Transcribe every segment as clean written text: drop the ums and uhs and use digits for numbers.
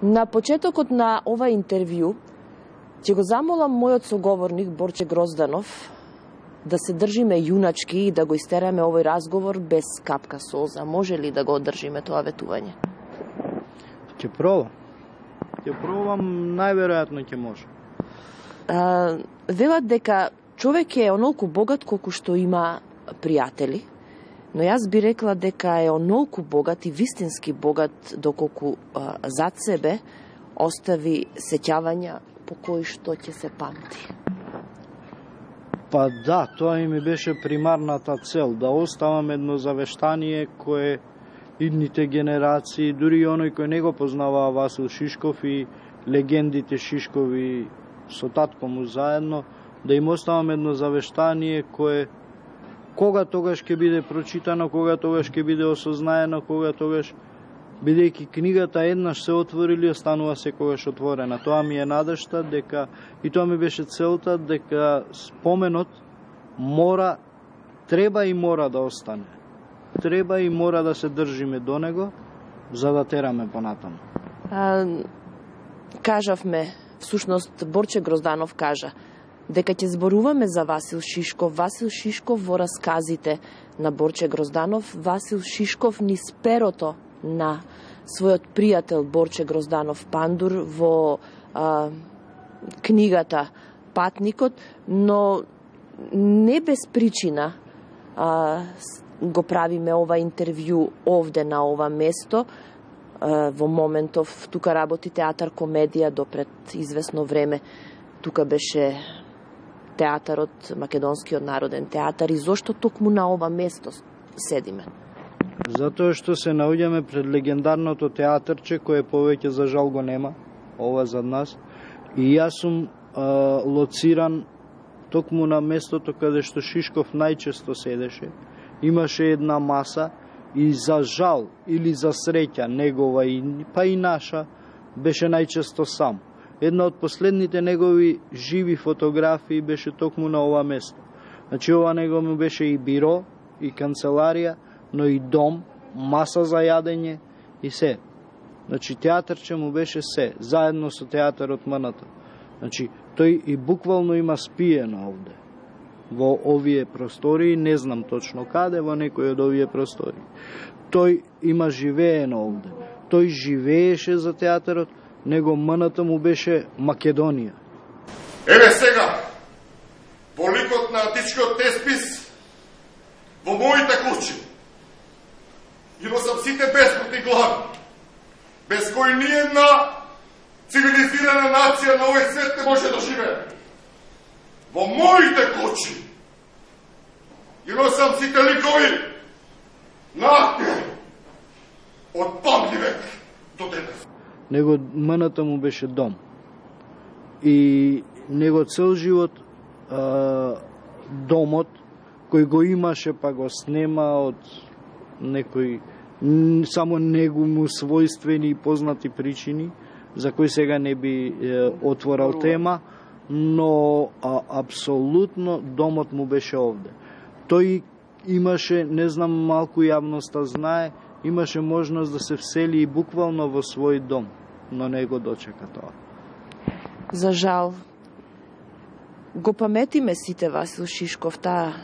На почетокот на ова интервју ќе го замолам мојот соговорник Борче Грозданов да се држиме јуначки и да го истераме овој разговор без капка солза. Може ли да го одржиме тоа ветување? Ќе пробам. Ќе пробам, најверојатно ќе може. Велат дека човек е онолку богат колку што има пријатели, но јас би рекла дека е онолку богат и вистински богат доколку зад себе остави сеќавања по кои што ќе се памти. Па да, тоа и ми беше примарната цел, да оставам едно завештание кое идните генерации, дури и оној кој не го познаваа Васил Шишков и легендите Шишкови со татко му заедно, да им оставам едно завештание кое кога тогаш ќе биде прочитано, кога тогаш ќе биде осознаено, кога тогаш, бидејќи книгата еднаш се отворили, останува секогаш отворена. Тоа ми е надежта дека, и тоа ми беше целта, дека споменот треба и мора да остане. Треба и мора да се држиме до него, за да тераме понатаму. Кажавме, всушност Борче Грозданов кажа, дека ќе зборуваме за Васил Шишков. Васил Шишков во расказите на Борче Грозданов, Васил Шишков низ перото на својот пријател Борче Грозданов Пандур во книгата Патникот, но не без причина го правиме ова интервју овде на ова место. Во моментов тука работи театар комедија допред известно време. Тука беше театарот, Македонскиот народен театар, и зошто токму на ова место седиме? Затоа што се наоѓаме пред легендарното театарче, кое повеќе за жал го нема, ова зад нас, и јас сум лоциран токму на местото каде што Шишков најчесто седеше. Имаше една маса и за жал или за среќа негова па и наша беше најчесто сам. Една од последните негови живи фотографии беше токму на ова место. Значи ова негово беше и биро, и канцеларија, но и дом, маса за јадење и се. Значи театарче му беше се, заедно со театарот МНТ. Значи тој и буквално има спиено овде. Во овие простории, не знам точно каде, во некој од овие простории. Тој има живеено овде. Тој живееше за театарот, него МНТ му беше Македонија. Еве сега, во ликот на античкиот теспис, во моите куќи, има сам сите бесплатни глави, без кои ниједна цивилизирана нација на овој свет не може да живее. Во моите куќи, има сам сите ликови на актери, од памти век до денес. Него МНТ му беше дом. И него цел живот домот, кој го имаше па го снема од некои само него му својствени и познати причини, за кои сега не би отворал тема, но апсолутно домот му беше овде. Тој имаше, не знам, малку јавноста знае, имаше можност да се всели и буквално во свој дом, но не го дочека тоа. За жал, го паметиме сите Васил Шишков, таа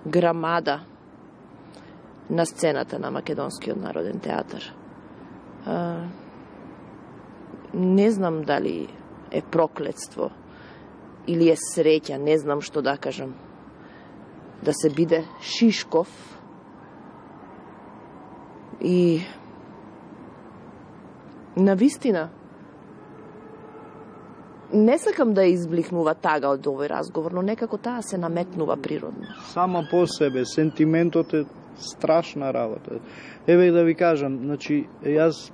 грамада на сцената на Македонскиот народен театар. Не знам дали е проклетство или е среќа, не знам што да кажам, да се биде Шишков и навистина не сакам да избликнува тага од овој разговор, но некако таа се наметнува природно. Сама по себе, сентиментот е страшна работа. Еве да ви кажам, значи, јас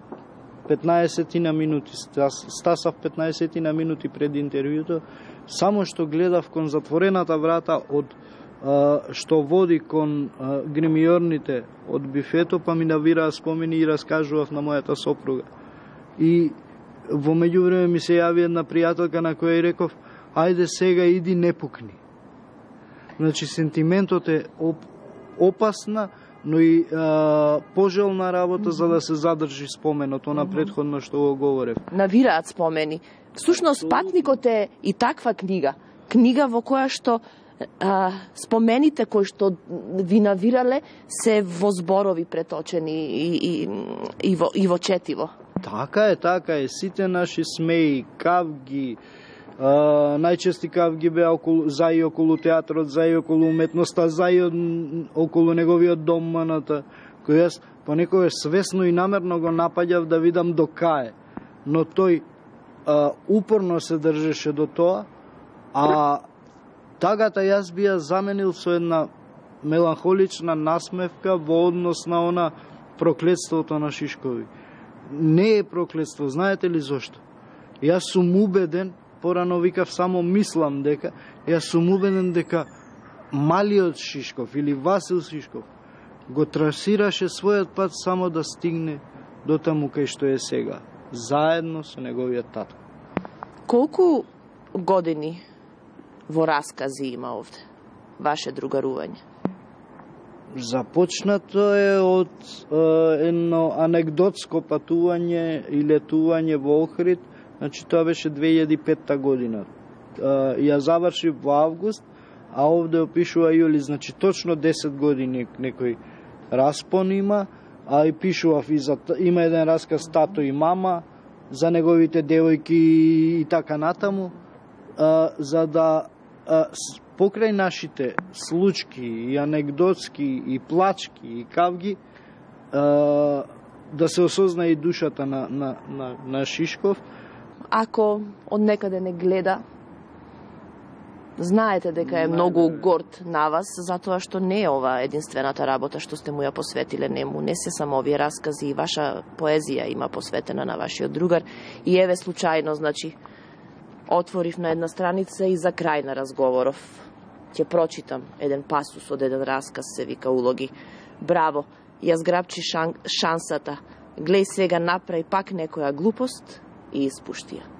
15 на минути, стасав 15 на минути пред интервјуто, само што гледав кон затворената врата од што води кон гримиорните од бифето, па ми навираа спомени и раскажував на мојата сопруга. И во меѓувреме ми се јави една пријателка на која и реков, ајде сега иди, не пукни. Значи, сентиментот е опасна но и пожелна работа за да се задржи споменот, она претходно што го говорев. Навираат спомени. Всушност, Патникот е и таква книга. Книга во која што спомените кои што ви навирале се во зборови преточени и во четиво. Така е. Сите наши смеи, кавги, најчести кавги беа за и околу театрот, за и околу уметноста, за и околу неговиот дом Маната, кој јас понекогаш свесно и намерно го напаѓав да видам до кај. Но тој упорно се држеше до тоа, а тагата јас би ја заменил со една меланхолична насмевка во однос на она проклетството на Шишкови. Не е проклетство, знаете ли зошто? Јас сум убеден, порано викав само мислам дека, јас сум убеден дека малиот Шишков или Васил Шишков го трасираше својот пат само да стигне до таму кај што е сега, заедно со неговиот татко. Колку години во раскази има овде ваше другарување? Започнато е од едно анегдотско патување и летување во Охрид, значи тоа беше 2005 година. Ја завршив во август, а овде опишува јули, значи точно 10 години некој распон има, а и пишував има еден расказ Тато и мама, за неговите девојки и така натаму, за да покрај нашите случки и анегдотски и плачки и кавги да се осозна и душата на Шишков. Ако од некаде не гледа, знаете дека е многу горд на вас, затоа што не е ова единствената работа што сте му ја посветиле нему. Не се само овие раскази, и ваша поезија има посветена на вашиот другар. И еве случајно, значи, отворив на една страница и за крај на разговоров ќе прочитам еден пасус од еден расказ, се вика Улоги. Браво, ја зграбчи шансата. Глеј сега направи пак некоја глупост и испушти ја.